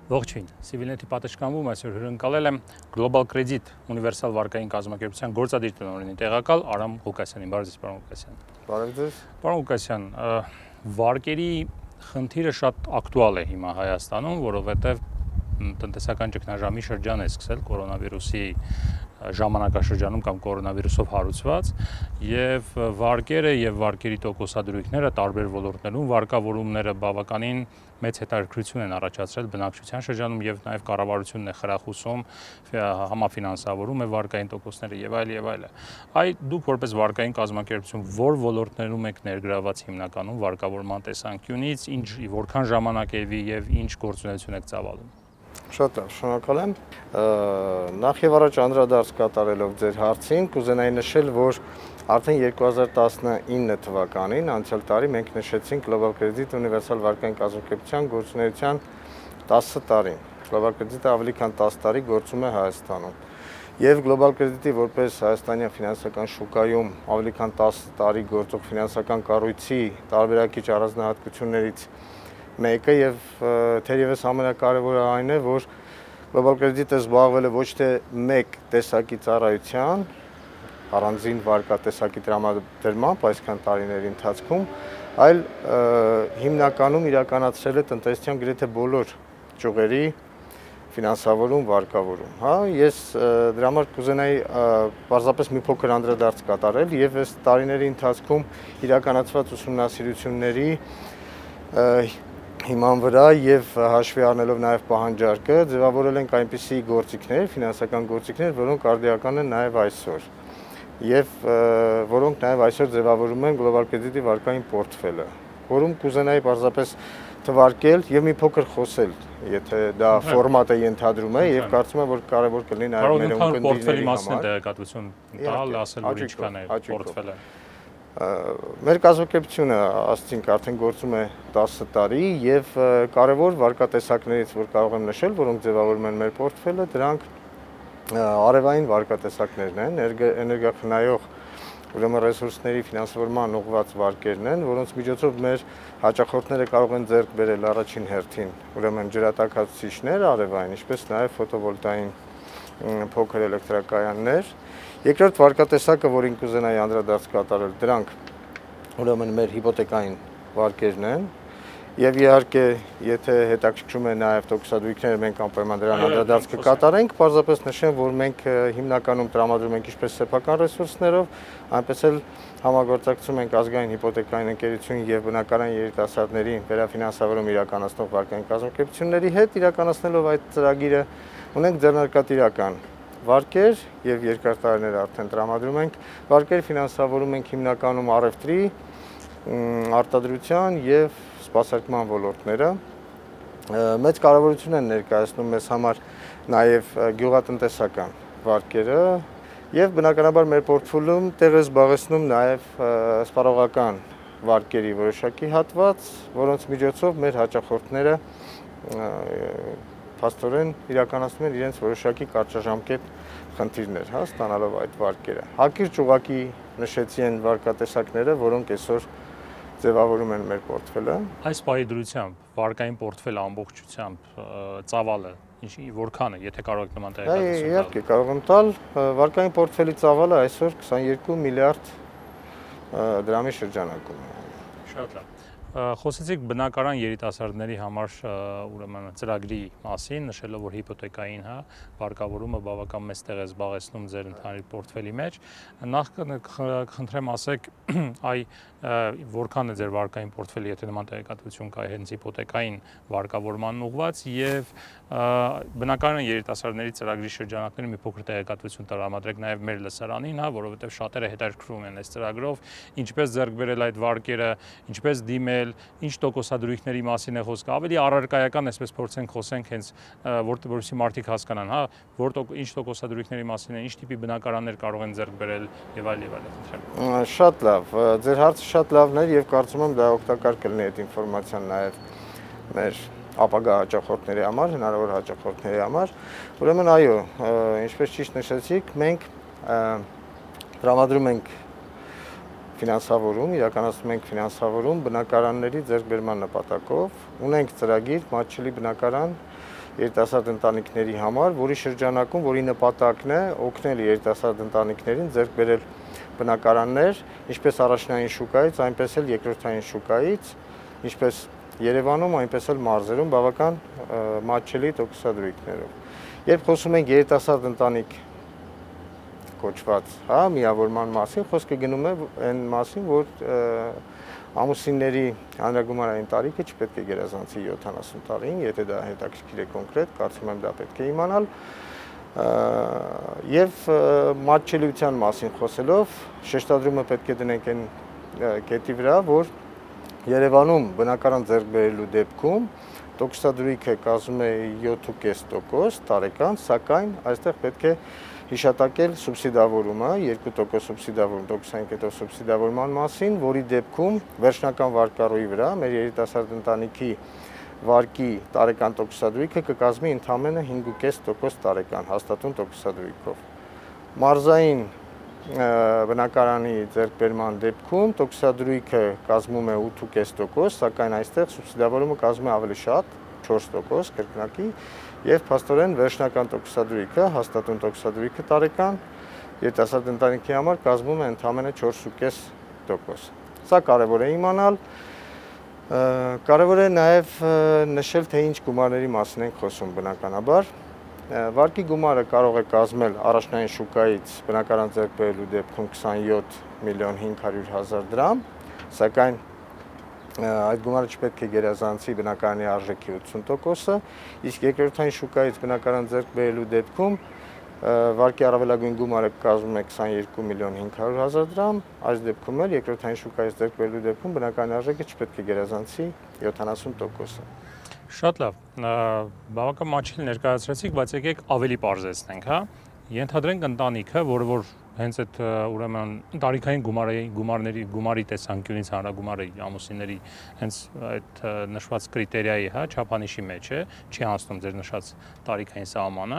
Ողջույն, Civilnet-ի պատշգամբում այսօր հյուրընկալել եմ Global Credit ունիվերսալ վարկային կազմակերպության գործադիր տնօրենի տեղակալ Արամ Ղուկասյանին։ Բարև ձեզ, պարոն Ղուկասյան։ Բարև ձեզ։ Պարոն Ղուկասյան, վարկերի խնդիրը շատ ակտուալ է հիմա Հայաստանում, որովհետև տնտեսական ճգնաժամի շրջան է սկսել կորոնավիրուսի ժամանակաշրջանում կամ կորոնավիրուսով հարուցված եւ վարկերը եւ վարկերի տոկոսադրույքները տարբեր ոլորտներում վարկավորումները բավականին մեծ հետաքրքրություն են առաջացրել բնակչության շրջանում եւ նաեւ կառավարությունն է խրախուսում համաֆինանսավորում է վարկային տոկոսները եւ այլ։ Այ դուք որպես վարկային կազմակերպություն որ ոլորտներում եք ներգրաված հիմնականում վարկավորման տեսանկյունից, որքան ժամանակ է եւ ինչ գործունեություն եք ծավալում։ Շատ լավ, շնորհակալ եմ։ Նախ եւ առաջ անդրադարձ կատարելով ձեր հարցին, կուզենայի նշել, որ արդեն 2019 թվականին, անցյալ տարի մենք նշեցինք Global Credit ունիվերսալ վարկային կազմակերպության գործունեության 10 տարին։ Global Credit-ը ավելի քան 10 տարի գործում է Հայաստանում։ Եվ Global Credit-ի որպես հայաստանյան ֆինանսական շուկայում ավելի քան 10 տարի գործող ֆինանսական կառույցի տարբերակիչ առանձնահատկություններից մեկը եւ թերևս ամենակարևորը այն է, որ Global Credit-ը զբաղվել է ոչ թե մեկ տեսակի ծառայության, առանձին վարկատեսակի տրամադրմամբ այսքան տարիների ընթացքում, այլ հիմնականում իրականացրել է տնտեսության գրեթե բոլոր ճյուղերի ֆինանսավորում, վարկավորում, հա, ես դրա համար կուզենայի պարզապես մի փոքր անդրադարձ կատարել եւ այս տարիների ընթացքում իրականացված ուսումնասիրությունների հիման վրա եւ հաշվի առնելով նաեւ պահանջարկը ձևավորել ենք այնպիսի գործիքներ, ֆինանսական գործիքներ, որոնք արդիական են նաեւ այսօր եւ որոնք նաեւ այսօր ձևավորում են Global Credit-ի վարկային պորտֆելը, որում կուզենայի պարզապես թվարկել եւ մի փոքր խոսել, եթե դա ֆորմատը ենթադրում է եւ կարծում եմ որ կարեւոր կլինի նաեւ մեր ունկնդիրների համար տեղեկատվություն տալ, ասել որ ինչքան է պորտֆելը։ Մեր կազմակերպությունը ասացինք արդեն գործում է 10 տարի եւ կարևոր վարկատեսակներից որ կարող եմ նշել, որոնք ձևավորում են մեր պորտֆելը, դրանք արևային վարկատեսակներն են, էներգախնայող ուրեմն ռեսուրսների ֆինանսավորման ուղղված վարկերն են, որոնց միջոցով մեր հաճախորդները կարող են ձեռք բերել առաջին հերթին ուրեմն ջրատաքացուցիչներ արևային, ինչպես նաեւ ֆոտովոլտային փոքր էլեկտրակայաններ։ Երկրորդ վարկատեսակը, որին կուզենայի անդրադարձ կատարել, դրանք ուրեմն մեր հիպոթեկային վարկերն են եւ իհարկե եթե հետաքրքրում է նաեւ տոկոսադրույքները մենք անպայման դրան անդրադարձ կկատարենք, պարզապես նշեմ, որ մենք հիմնականում տրամադրում ենք ինչպես սեփական ռեսուրսներով, այնպես էլ համագործակցում ենք ազգային հիպոթեկային ընկերություն եւ բնակարան երիտասարդների վերաֆինանսավորում իրականացնող վարկային կազմակերպությունների հետ իրականացնելով այդ ծրագիրը ունենք ձեռնարկատիրական վարկեր եւ երկար տարիներ արդեն տրամադրում ենք վարկեր ֆինանսավորում ենք հիմնականում առևտրի, արտադրության եւ սպասարկման ոլորտները մեծ կարեւորություն են ներկայացնում մեզ համար նաեւ գյուղատնտեսական վարկերը եւ բնականաբար մեր պորտֆոլիոում տեղ է զբաղեցնում նաեւ սպառողական վարկերի որոշակի հատված, որոնց միջոցով մեր հաճախորդները փաստորեն իրականացնում են իրենց որոշակի կարճաժամկետ խնդիրներ, հա, ստանալով այդ վարկերը։ Հակիրճ ուղղակի նշեցի են վարկատեսակները, որոնք այսօր ձևավորում են մեր պորտֆելը։ Այս պահի դրությամբ վարկային պորտֆելը ամբողջությամբ ծավալը որքան է, եթե կարող եք նման տեղեկատվություն տալ։ Իհարկե, կարող եմ տալ, վարկային պորտֆելի ծավալը այսօր 22 միլիարդ դրամի շրջանակում է։ Շատ լավ։ Խոսեցիք բնակարան երիտասարդների համար ուրեմն ծրագրի մասին, նշելով որ հիպոթեկային, հա, վարկավորումը բավական մեծ տեղ է զբաղեցնում ձեր ընդհանուր պորտֆելի մեջ։ Նախ կխնդրեմ ասեք, այ որքան է ձեր վարկային պորտֆելը, եթե նման տեղեկատվություն կա հենց հիպոթեկային վարկավորմանն ուղղված եւ բնակարան երիտասարդների ծրագրի շրջանակներում մի փոքր տեղեկատվություն տրամադրեք նաեւ մեր լսարանին, հա, որովհետեւ շատերը հետաքրքրվում են այս ծրագրով, ինչպես ձեռք բերել այդ վարկերը, ինչպես դիմել, ինչ տոկոսադրույքների մասին է խոսքը, ավելի առարկայական, այսպես փորձենք խոսենք հենց որպեսզի մարդիկ հասկանան, հա, ինչ տոկոսադրույքների մասին է, ինչ տիպի բնակարաններ կարող են ձեռք բերել եւ այլ։ Շատ լավ, ձեր հարցը շատ լավն էր եւ կարծում եմ դա օգտակար կլինի այդ ինֆորմացիան նաեւ մեր ապագա հաճախորդների համար, հնարավոր հաճախորդների համար։ Ուրեմն այո, ինչպես ճիշտ նշեցիք, մենք տրամադրում ենք ֆինանսավորում, իրականացնում ենք ֆինանսավորում բնակարանների ձեռքբերման նպատակով, ունենք ծրագիր մատչելի բնակարան երիտասարդ ընտանիքների համար, որի շրջանակում, որի նպատակն է օգնել երիտասարդ ընտանիքներին ձեռք բերել բնակարաններ, ինչպես առաջնային շուկայից, այնպես էլ երկրորդային շուկայից, ինչպես Երևանում, այնպես էլ մարզերում բավական մատչելի տոկոսադրույքներով։ Երբ խոսում ենք երիտասարդ ընտանիք կոչված, միավորման մասին, խոսքը գնում է այն մասին, որ ամուսինների հանրագումարային տարիքը չպետք է գերազանցի 70 տարին, եթե դա հետաքրքիր է կոնկրետ, կարծում եմ դա պետք է իմանալ։ Եվ մատչելիության մասին խոսելով, շեշտադրումը պետք է դնենք այն կետի վրա, որ Երևանում բնակարան ձեռք բերելու դեպքում տոկոսադրույքը կազմում է 7.5% տարեկան, սակայն այստեղ պետք է հիշատակել սուբսիդավորումը, 2% սուբսիդավորում, տոկոսային կետով սուբսիդավորման մասին, որի դեպքում վերջնական վարկառույի վրա մեր երիտասարդ ընտանիքի վարկի տարեկան տոկոսադրույքը կկազմի ընդամենը 5.5% տարեկան հաստատուն տոկոսադրույքով։ Մարզային բնակարանի ձեռքբերման դեպքում տոկոսադրույքը կազմում է 8.5%, սակայն այստեղ սուբսիդավորումը կազմում է ավելի շատ, 4% կրկնակի, եւ փաստորեն վերջնական տոկոսադրույքը, հաստատուն տոկոսադրույքը տարեկան երիտասարդ ընտանիքի համար կազմում է ընդամենը 4.5%։ Սա կարևոր է իմանալ, կարևոր է նաեւ նշել, թե ինչ գումարների մասին ենք խոսում բնականաբար։ Վարկի գումարը կարող է կազմել առաջնային շուկայից բնակարան ձեռք բերելու դեպքում 27.500.000 դրամ, սակայն այդ գումարը չպետք է գերազանցի բնակարանի արժեքի 80%-ը, իսկ երկրորդային շուկայից բնակարան ձեռք բերելու դեպքում վարկի առավելագույն գումարը կազմում է 22.500.000 դրամ, այս դեպքում էլ երկրորդային շուկայից ձեռք բերելու դեպքում բնակարանի արժեքը չպետք է գերազանցի 70%-ը։ Շատ լավ, բավական մատչելի ներկայացրեցիք, բայց եկեք ավելի պարզեցնենք, հա։ Ենթադրենք ընտանիքը, որը որ հենց այդ ուրեմն տարիքային գումարի տեսանկյունից հանրագումարը ամուսինների հենց այդ նշված կրիտերիայի, հա, չափանիշի մեջ է, չի հասնում ձեր նշած տարիքային սահմանը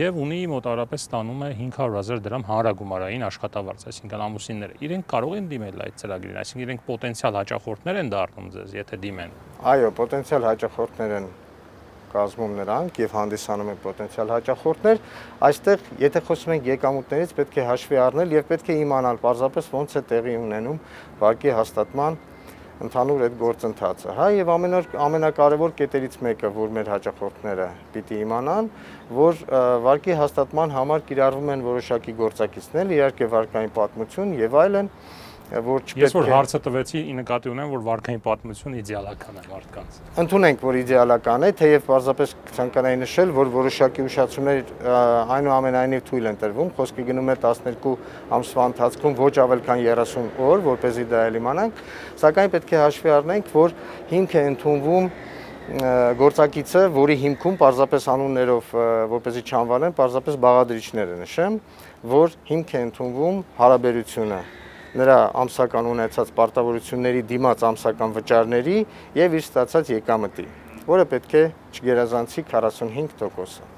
եւ ունի մոտավորապես ստանում է 500.000 դրամ հանրագումարային աշխատավարձ, այսինքն ամուսինները իրենք կարող են դիմել այդ ծրագրին, այսինքն իրենք պոտենցիալ հաճախորդներ են դառնում ձեզ, եթե դիմեն։ Այո, պոտենցիալ հաճախորդներ են կազմում նրանք եւ հանդիսանում են պոտենցիալ հաճախորդներ, այստեղ եթե խոսում ենք եկամուտներից պետք է հաշվի առնել եւ պետք է իմանալ պարզապես ոնց է տեղի ունենում վարկի հաստատման ընդհանուր այդ գործընթացը, հա, եւ ամենակարևոր կետերից մեկը, որ մեր հաճախորդները պիտի իմանան, որ վարկի հաստատման համար կիրառվում են որոշակի գործակիցներ, իհարկե վարկային պատմություն եւ այլն, որ չպետք է։ Ես որ հարցը տվեցի, նկատի ունեմ, որ վարկային պատմություն իդեալական է մարդկանց։ Ընդունենք, որ իդեալական է, թեև պարզապես ցանկանայի նշել, որ որոշակի ուշացումներ այնուամենայնիվ թույլ են տրվում, խոսքը գնում է 12 ամսվա ընթացքում ոչ ավել քան 30 օր, որպեսզի դա էլ իմանանք, սակայն պետք է հաշվի առնենք, որ հիմք է ընդունվում գործակիցը, որի հիմքում պարզապես անուններով, որպեսզի չանվանեմ, պարզապես բաղադրիչները նշեմ, որ հիմք է ընդունվում հարաբերությունը նրա ամսական ունեցած պարտավորությունների դիմաց ամսական վճարների եւ իր ստացած եկամտի, որը պետք է չգերազանցի 45%-ը։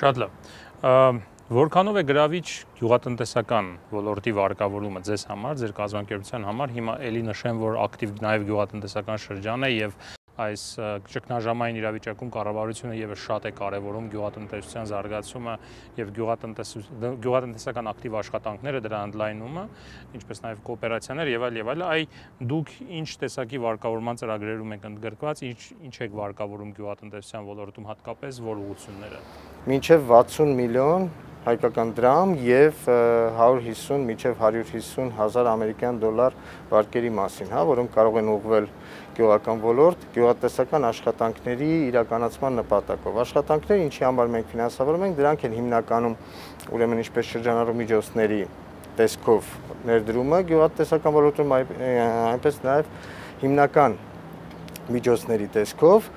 Շատ լավ։ Որքանով է գրավիչ գյուղատնտեսական ոլորտի վարկավորումը ձեզ համար, ձեր կազմակերպության համար, հիմա էլի նշեմ, որ ակտիվ նաեւ գյուղատնտեսական շրջան է եւ այս ճգնաժամային իրավիճակում կառավարությունը եւս շատ է կարևորում գյուղատնտեսության զարգացումը եւ գյուղատնտեսական ակտիվ աշխատանքները, դրա ընդլայնումը, ինչպես նաեւ կոոպերացիաներ եւ այլ, այ դուք ինչ տեսակի վարկավորման ծրագրերում եք ընդգրկված, ինչ եք վարկավորում գյուղատնտեսության ոլորտում հատկապես որ ուղղությունները։ Մինչև 60 միլիոն հայկական դրամ եւ 150 մինչև 150.000 ամերիկյան դոլար վարկերի մասին, հա, որոնք կարող են ուղղվել գյուղական ոլորտ, գյուղատնտեսական աշխատանքների իրականացման նպատակով։ Աշխատանքները, ինչի համար մենք ֆինանսավորում ենք, դրանք են հիմնականում ուրեմն ինչպես շրջանառու միջոցների տեսքով ներդրումը գյուղատնտեսական ոլորտում, այնպես նաեւ հիմնական միջոցների տեսքով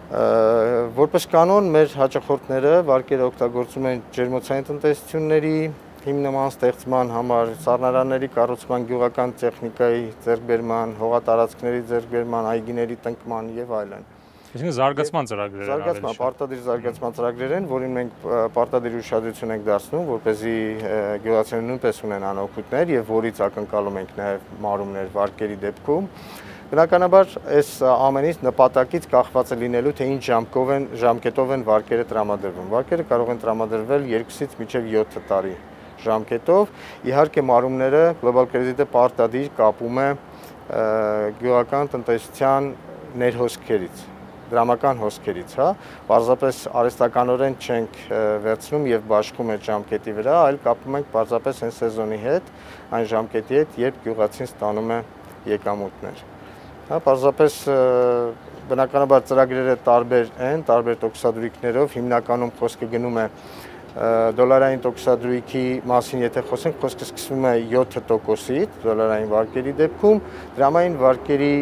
որպես կանոն մեր հաճախորդները վարկերը օգտագործում են ջերմոցային տնտեսությունների հիմնման ստեղծման համար, սառնարանների կառուցման, գյուղական տեխնիկայի ձեռքբերման, հողատարածքների ձեռքբերման, այգիների տնկման եւ այլն։ Այսինքն զարգացման ծրագրեր են։ Զարգացման, պարտադիր զարգացման ծրագրեր են, որին մենք պարտադիր ուշադրություն ենք դարձնում, որպեսզի գյուղացիները նույնպես ունենան օգուտներ եւ որից ակնկալում ենք նաեւ մարումներ վարկերի դեպքում։ Բնականաբար այս ամենից նպատակից կախված է լինելու, թե ինչ ժամկետով են վարկերը տրամադրվում։ Վարկերը կարող են տրամադրվել 2-ից մինչև 7 տարի ժամկետով։ Իհարկե մարումները Global Credit-ը պարտադիր կապում է գյուղական տնտեսության ներհոսքերից, դրամական հոսքերից, հա, պարզապես արհեստականորեն չենք վերցնում եւ բաշխում այդ ժամկետի վրա, այլ կապում ենք պարզապես այն սեզոնի հետ, այն ժամկետի հետ, երբ գյուղացին ստանում է եկամուտներ։ Հա, պարզապես բնականաբար ծրագրերը տարբեր են, տարբեր տոկոսադրույքներով, հիմնականում խոսքը գնում է դոլարային տոկոսադրույքի մասին, եթե խոսենք, խոսքը սկսվում է 7%-ից դոլարային վարկերի դեպքում, դրամային վարկերի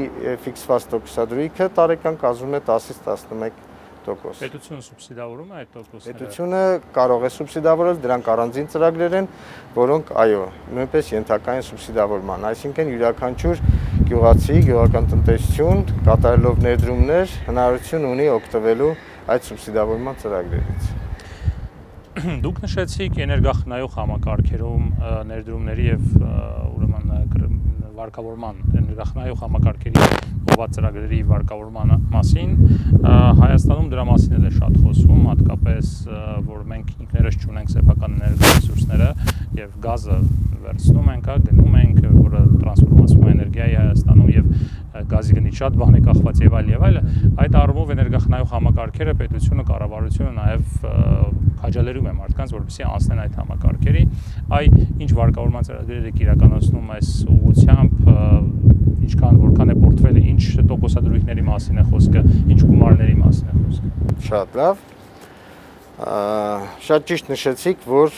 ֆիքսված տոկոսադրույքը տարեկան կազմում է 10-ից 11%։ Պետությունը սուբսիդավորում է այդ տոկոսները։ Պետությունը կարող է սուբսիդավորել, դրանք առանձին ծրագրեր են, որոնք այո, նույնպես ենթակա են սուբսիդավորման, այսինքն յուրաքանչյուր գյուղացի, գյուղական տնտեսություն կատարելով ներդրումներ հնարավորություն ունի օգտվելու այդ սուբսիդավորման ծրագրերից։ Դուք նշեցիք էներգախնայող համակարգերում ներդրումների եւ ուրեմն վարկավորման էներգախնայող համակարգերի ուղղված ծրագրերի վարկավորման մասին Հայաստանում դրա մասին էլ է շատ խոսվում, հատկապես որ մենք ինքներս չունենք սեփական էներգառեսուրսները եւ գազը վերցնում ենք, գնում ենք, որը տրանսֆորմացվում է էներգիայի Հայաստանում եւ գազի գնից շատ բան է կախված եւ այլ, այդ առումով էներգախնայող համակարգերը պետությունը, կառավարությունը նաեւ քաջալերում է մարդկանց, որպեսզի անցնեն այդ համակարգերի, ինչ վարկավորման ծրագրեր եք իրականացնում այս ուղղությամբ, որքան է պորտֆելը, ինչ տոկոսադրույքների մասին է խոսքը, ինչ գումարների մասին է խոսքը։ Շատ լավ։ Շատ ճիշտ նշեցիք, որ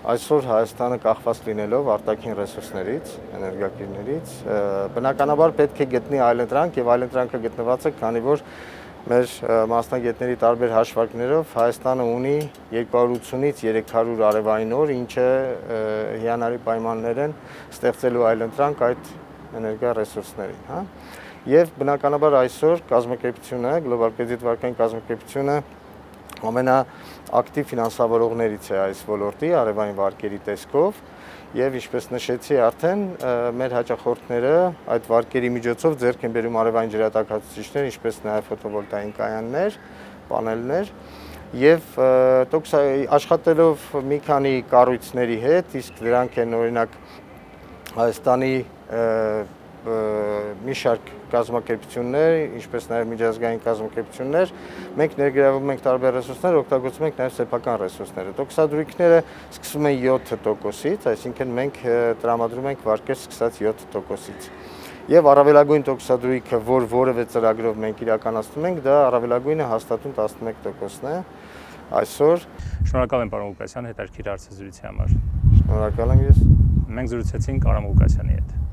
այսօր Հայաստանը կախված լինելով արտաքին ռեսուրսներից, էներգակիրներից, բնականաբար պետք է գտնի այլընտրանք եւ այլընտրանքը գտնված է, քանի որ մեր մասնագետների տարբեր հաշվարկներով Հայաստանը ունի 280-ից 300 արևային օր, ինչը հիանալի պայմաններ են ստեղծելու այլընտրանք այդ էներգա ռեսուրսներին, հա։ Եվ բնականաբար այսօր կազմակերպությունը, Global Credit վարկային կազմակերպությունը ամենաակտիվ ֆինանսավորողներից է այս ոլորտի արևային վարկերի տեսքով եւ ինչպես նշեցի արդեն մեր հաճախորդները այդ վարկերի միջոցով ձեռք են բերում արևային ջրատաքացուցիչներ, ինչպես նաեւ ֆոտովոլտային կայաններ, պանելներ եւ աշխատելով մի քանի կառույցների հետ, իսկ դրանք են օրինակ Հայաստանի մի շարք կազմակերպություններ, ինչպես նաև միջազգային կազմակերպություններ, մենք ներգրավում ենք տարբեր ռեսուրսներ, օգտագործում ենք նաև սեփական ռեսուրսները։ Տոկոսադրույքները սկսվում են 7%-ից, այսինքն մենք տրամադրում ենք վարկեր սկսած 7%-ից։ Եվ առավելագույն տոկոսադրույքը, որ որևէ ծրագրով մենք իրականացնում ենք, դա առավելագույնը հաստատուն 11%-ն է այսօր։ Շնորհակալ եմ պարոն Ղուկասյան հետաքրքիր հարցազրույցի համար։ Շնորհակալ եմ ես։ Մենք զրուցեցինք Արամ Ղուկասյանի հետ։